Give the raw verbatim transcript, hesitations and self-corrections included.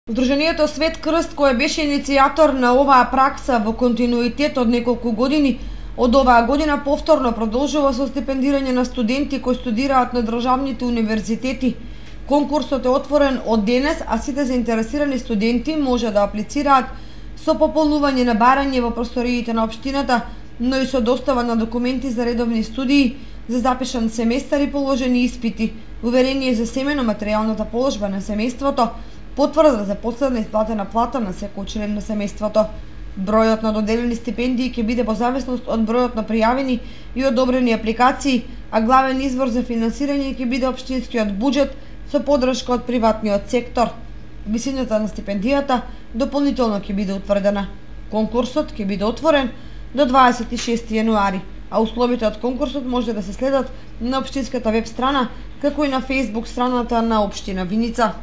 Здруженијето Свет Крст, кој беше иницијатор на оваа пракса во континуитет од неколку години, од оваа година повторно продолжува со стипендирање на студенти кои студираат на државните универзитети. Конкурсот е отворен од денес, а сите заинтересирани студенти може да аплицираат со пополнување на барање во просториите на општината, но и со достава на документи за редовни студии, за запишан семестар и положени испити, уверение за семено материјалната положба на семејството, потврда за последна исплатена плата на секој член на семејството. Бројот на доделени стипендии ќе биде во зависност од бројот на пријавени и одобрени апликации, а главен извор за финансирање ќе биде општинскиот буџет со подршка од приватниот сектор. Висината на стипендијата дополнително ќе биде утврдена. Конкурсот ќе биде отворен до дваесет и шести јануари, а условите од конкурсот може да се следат на општинската веб страна, како и на Facebook страната на општина Виница.